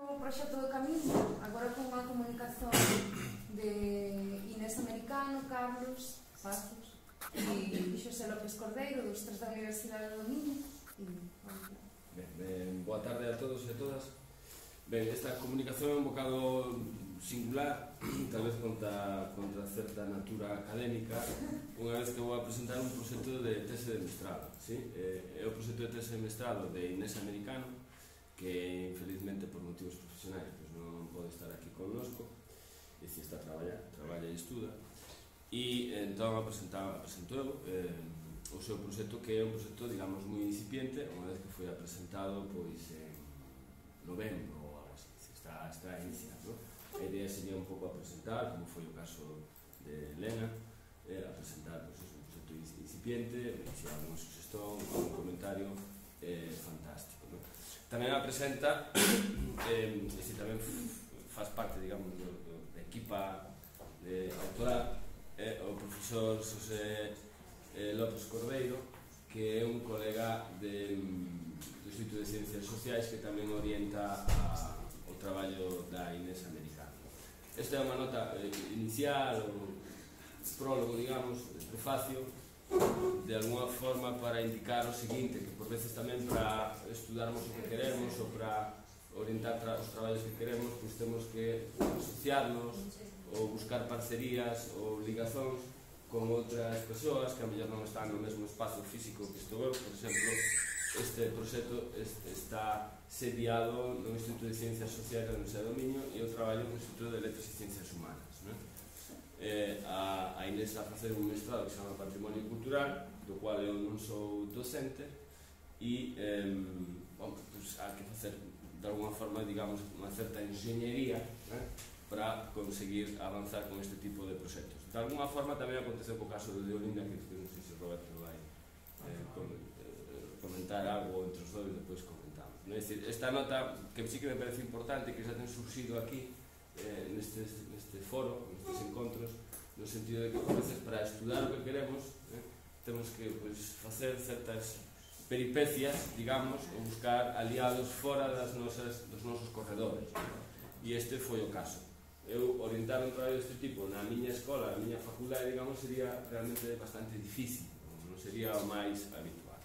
O proxecto do Camiño, agora con unha comunicación de Inés Americano, Carlos Pazos e Xosé López Cordeiro, dos tres da Universidade do Miño. Boa tarde a todos e a todas. Ben, esta comunicación é un bocado singular, tal vez contra certa natura académica, unha vez que vou a presentar un proxecto de tese de mestrado. É o proxecto de tese de mestrado de Inés Americano, que infelizmente por motivos profesionais non pode estar aquí connosco, e se está a traballa e estuda, e entón apresentou o seu proxecto, que é un proxecto, digamos, moi incipiente, unha vez que foi presentado pois en novembro ou algo así, está a iniciar, non? A idea sería un pouco a presentar, como foi o caso de Elena, a presentar un proxecto incipiente, se algún sugestón, algún comentario fantástico, non? Tamén a presenta, e se tamén faz parte, digamos, da equipa autoral, o profesor Xosé López Cordeiro, que é un colega do Instituto de Ciencias Sociais, que tamén orienta o traballo da Inés Americano. Esta é unha nota inicial, ou prólogo, digamos, prefacio, de alguna forma para indicar o seguinte, que por veces tamén para estudarmos o que queremos ou para orientar os traballos que queremos, pois temos que asociarnos ou buscar parcerías ou ligazóns con outras persoas que a mellor non están no mesmo espazo físico que estou eu. Por exemplo, este proxecto está sediado no Instituto de Ciencias Sociais da Universidade do Miño e eu traballo no Instituto de Letras e Ciencias Humanas. A Inés a facer un mestrado que se chama Patrimonio Cultural, do cual eu non sou docente, e há que facer de alguna forma, digamos, unha certa enxeñería para conseguir avanzar con este tipo de proxectos. De alguna forma tamén aconteceu co caso de Olinda, que non sei se Roberto vai comentar algo entre os dois e depois comentamos. É dicir, esta nota que sí que me parece importante, que xa ten surxido aquí neste foro, nestes encontros, no sentido de que, por veces, para estudar o que queremos, temos que facer certas peripecias, digamos, ou buscar aliados fora dos nosos corredores. E este foi o caso. Eu orientar un traballo deste tipo na miña escola, na miña facultade, digamos, sería realmente bastante difícil, non sería o máis habitual.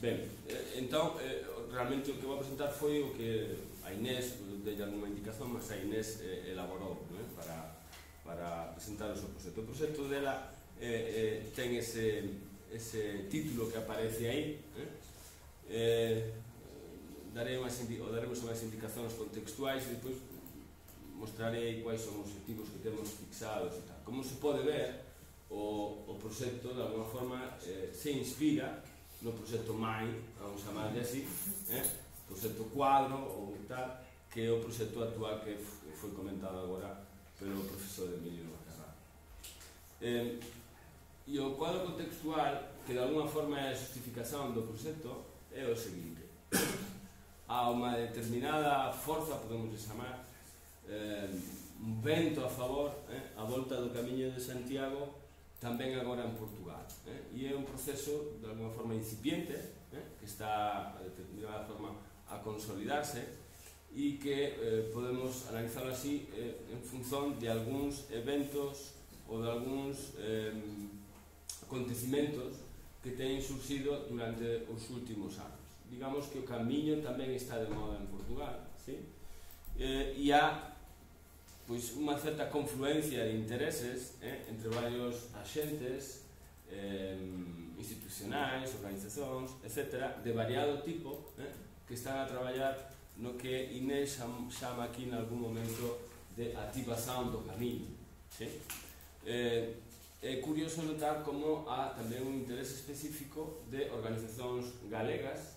Ben, entón, realmente o que vou presentar foi o que a Inés, dei alguma indicación, mas a Inés elaborou para presentar o seu proxecto. O proxecto dela ten ese título que aparece aí. Daremos unhas indicacións contextuais e depois mostrarei quais son os objetivos que temos fixados e tal. Como se pode ver, o proxecto, de alguna forma, se inspira no proxecto MAI, vamos chamarle así, proxecto cuadro ou tal, que é o proxecto actual que foi comentado agora pelo profesor Emilio Carrado. E o cuadro contextual, que de alguna forma é a justificación do proxecto, é o seguinte: há unha determinada forza, podemos chamar, un vento a favor, a volta do Camiño de Santiago, tamén agora en Portugal, e é un proceso de alguna forma incipiente, que está de determinada forma a consolidarse e que podemos analizarlo así en función de algúns eventos ou de algúns acontecimentos que teñen surxido durante os últimos anos. Digamos que o Camiño tamén está de moda en Portugal, e há unha certa confluencia de intereses entre varios axentes institucionais, organizacións, etc., de variado tipo, que están a traballar no que Inés chama aquí en algún momento de activación do camiño. É curioso notar como há tamén un interese específico de organizacións galegas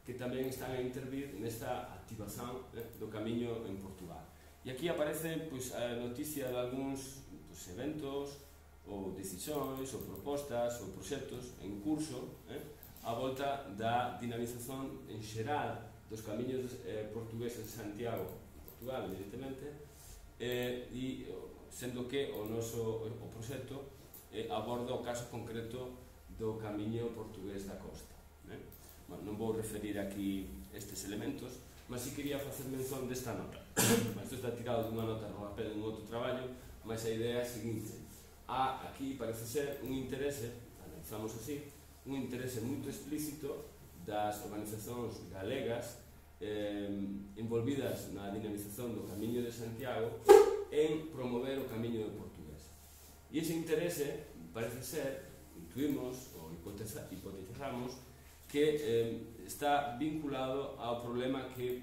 que tamén están a intervir nesta activación do camiño en Portugal. E aquí aparece a noticia de algúns eventos ou decisións ou propostas ou proxectos en curso a volta da dinamización en xeral dos camiños portugueses de Santiago, Portugal, evidentemente, e sendo que o proxecto aborda o caso concreto do camiño portugués da costa. Non vou referir aquí estes elementos, mas si quería facer mención desta nota. Isto está tirado dunha nota rodapé dun outro traballo, mas a idea é a seguinte: aquí parece ser un interese, analizamos así, un interese moito explícito das organizacións galegas envolvidas na dinamización do Camiño de Santiago en promover o camiño do portugués. E ese interese parece ser, intuimos ou hipotizamos, que está vinculado ao problema que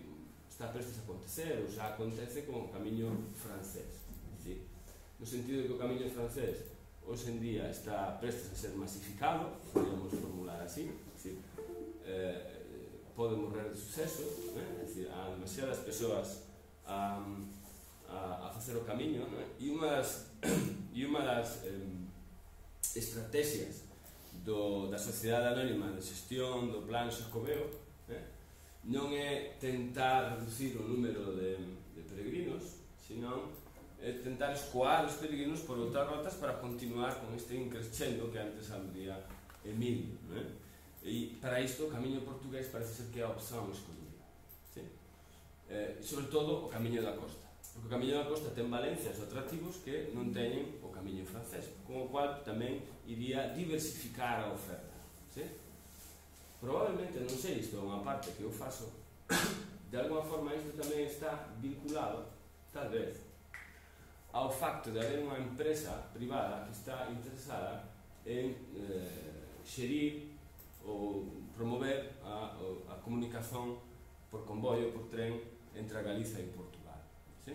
está prestes a acontecer ou xa acontece con o camiño francés. ¿Sí? No sentido de que o camiño francés hoxe en día está prestes a ser masificado, podemos formular así, ¿sí? Pode morrer de suceso, é dicir, há demasiadas persoas a facer o camiño, e unha das estrategias da Sociedade Anónima de Xestión do Plan Xacobeo non é tentar reducir o número de peregrinos, senón é tentar escoar os peregrinos por outras rotas para continuar con este increscendo que antes abría Emilio. E para isto o camiño portugués parece ser que é a opción escollida, ¿sí? Sobre todo o camiño da costa, porque o camiño da costa ten valencias ou atractivos que non teñen o camiño francés, con o cual tamén iría diversificar a oferta, ¿sí? Probablemente, non sei, isto é unha parte que eu faço, de alguma forma isto tamén está vinculado, tal vez, ao facto de haber unha empresa privada que está interesada en xerir ou promover a comunicación por convoio, por tren, entre a Galiza e Portugal. ¿Sí?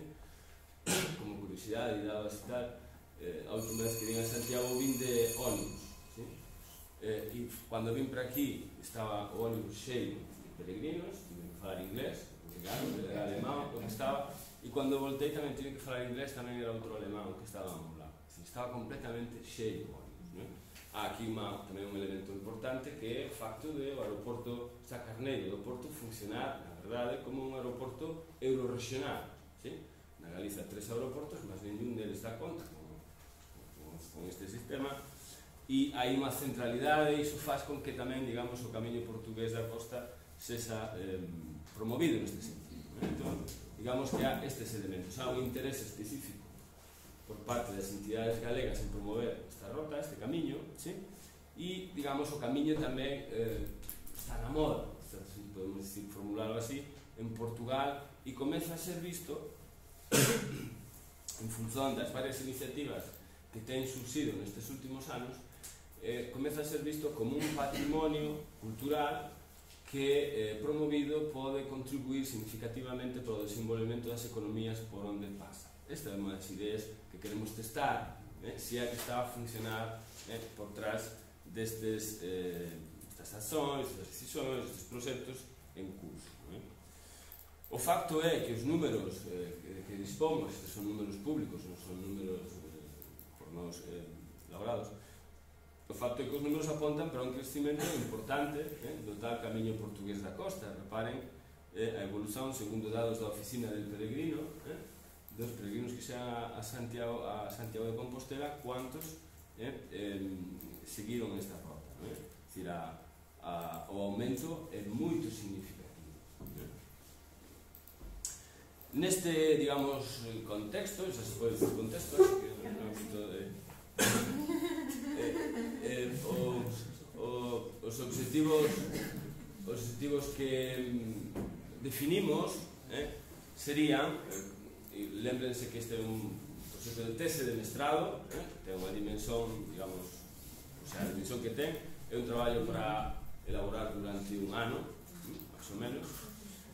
Como curiosidade, e dado así tal, a última vez que vim a Santiago vim de ónibus. ¿Sí? E cando vim para aquí estaba o ónibus cheio de peregrinos, tive que falar inglés, porque claro, era alemán o que estaba, e cando voltei tamén tive que falar inglés, tamén era outro alemán o que estaba ao meu lado. Estaba completamente cheio o ónibus. Há aquí tamén un elemento importante que é o facto de o aeroporto Sá Carneiro do Porto funcionar, na verdade, como un aeroporto eurorregional. ¿Sí? Na Galiza 3 aeroportos, mas ningún deles dá conta con este sistema, e hai unha centralidade, e iso faz con que tamén, digamos, o camiño portugués da costa sexa promovido neste sentido. Entón, digamos que há estes elementos, há un interese específico por parte das entidades galegas en promover esta rota, este camiño, ¿sí? E, digamos, o camiño tamén está na moda, podemos decir, formularlo así, en Portugal, e comeza a ser visto, en función das varias iniciativas que ten surxido nestes últimos anos, comeza a ser visto como un patrimonio cultural que, promovido, pode contribuir significativamente para o desenvolvemento das economías por onde pasa. Esta é unha das ideas que queremos testar, se é que está a funcionar por trás destas accións, destas decisións, destes proxectos en curso. O facto é que os números que dispomos, estes son números públicos, non son números por nós elaborados, o facto é que os números apontan para un crecimento importante do tal camiño portugués da costa. Reparen a evolución, segundo dados da Oficina del Peregrino, dos peregrinos que xa a Santiago de Compostela, cuantos seguiron esta rota. É dicir, o aumento é moito significativo. Neste, digamos, contexto, xa se pode dicir contexto, que é un ámbito de... os objetivos que definimos serían... Lembrense que este é un proxecto de tese de mestrado, ten unha dimensión, digamos, a dimensión que ten, é un traballo para elaborar durante un ano, máis ou menos,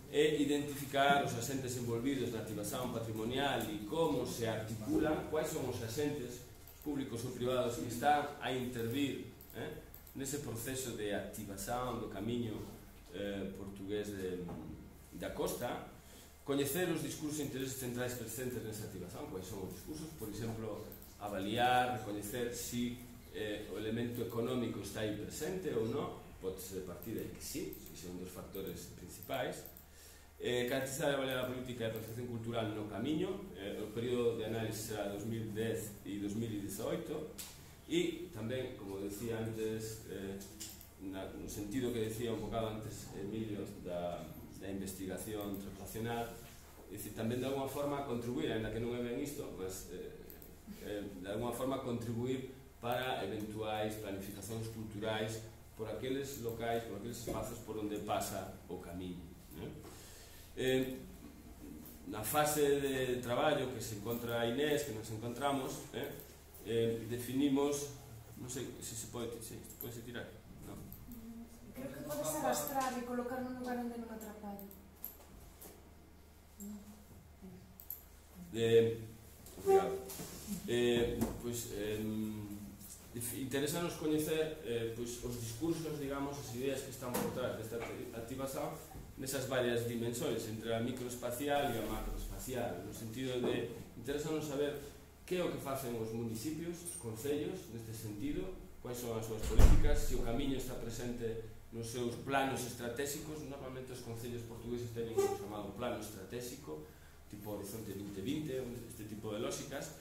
e identificar os asentes envolvidos na activación patrimonial e como se articulan, quais son os asentes públicos ou privados que están a intervir nese proceso de activación do camiño portugués da costa, coñecer os discursos e intereses centrais presentes nesa activación, quais son os discursos, por exemplo, avaliar, recoñecer si o elemento económico está aí presente ou non, pode ser de partida e que sí, que son dos factores principais. Caracterizar e avaliar a política de protección cultural no camiño, o período de análise será 2010 e 2018, e tamén, como decía antes, no sentido que decía un bocado antes Emilio da investigación translacional, é dicir, tamén de alguma forma contribuir, ainda que non é ben isto, mas de alguma forma contribuir para eventuais planificacións culturais por aqueles locais, por aqueles espazos por onde pasa o camiño. Na fase de traballo que se encontra a Inés, que nos encontramos, definimos, non sei se se pode tirar, non? Creo que podes arrastrar e colocar nun lugar onde non atrapallo. Obrigado. Interesanos coñecer os discursos, digamos, as ideas que están por trás desta activación nesas varias dimensões, entre a microespacial e a macroespacial, no sentido de interesanos saber que é o que facen os municipios, os concellos, neste sentido, quais son as súas políticas, se o camiño está presente nos seus planos estratégicos. Normalmente os concellos portugueses teñen o chamado plano estratégico, tipo Horizonte 2020, este tipo de lógicas.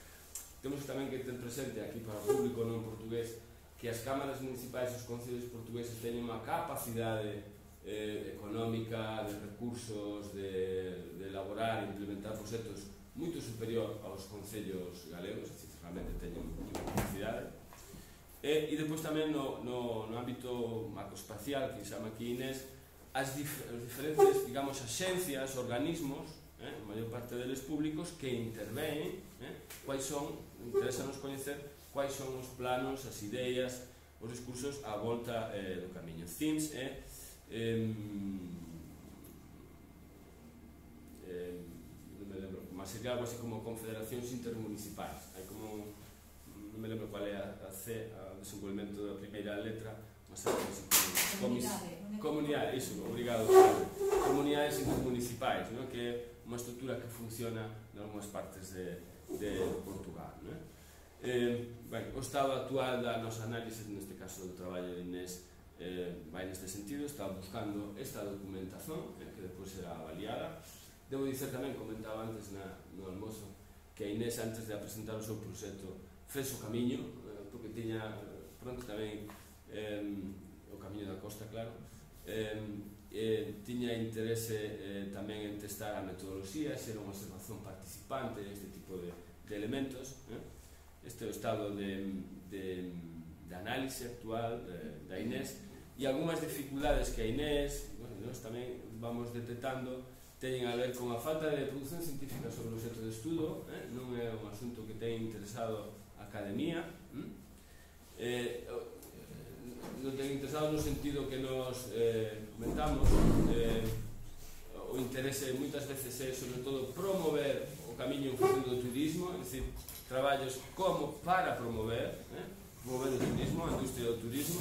Temos tamén que ter presente aquí para o público non portugués que as cámaras municipais e os concellos portugueses teñen unha capacidade económica, de recursos, de elaborar e implementar proxectos moito superior aos concellos galegos, realmente teñen moita capacidade. E depois tamén no ámbito macroespacial, que chama aquí Inés, as diferentes, digamos, axencias, organismos, a maior parte deles públicos, que intervén, quais son, interesanos coñecer quais son os planos, as ideas, os discursos á volta do camiño. THEMES non me lembro, mas sería algo así como confederacións intermunicipais. Hai como, non me lembro cual é a C, o desenvolvemento da primeira letra, mas é así como comunidade, iso, obrigado, comunidades intermunicipais, que é unha estrutura que funciona en algunhas partes de Portugal. O estado actual da nosa análise, neste caso do traballo de Inés, vai neste sentido, está buscando esta documentación que depois será avaliada. Debo dicer tamén, comentaba antes no almozo, que a Inés, antes de presentar o seu proxecto, fez o camiño, porque tiña pronto tamén o camiño da costa, claro, tiña interese tamén en testar a metodoloxía, ser unha observación participante neste tipo de elementos. Este é o estado de análise actual da Inés, e algunhas dificultades que a Inés, nós tamén vamos detectando, teñen a ver con a falta de produción científica sobre o obxecto de estudo. Non é un asunto que ten interesado a academia, non ten interesado no sentido que nos comentamos. O interese moitas veces é, sobre todo, promover o camiño en función do turismo, é dicir, traballos como para promover o turismo, a industria do turismo.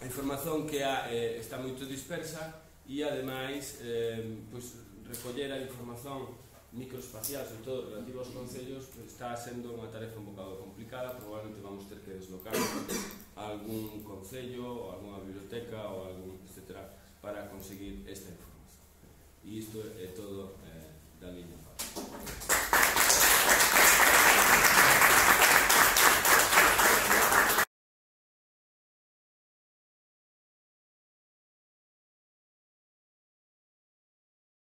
A información que há está moito dispersa e, ademais, recoller a información microespacial, sobre todo relativa aos concellos, está sendo unha tarefa un bocado complicada. Probablemente vamos ter que deslocar a algún concello, ou algunha biblioteca, ou algún, etcétera, para conseguir esta información. E isto é todo da miña.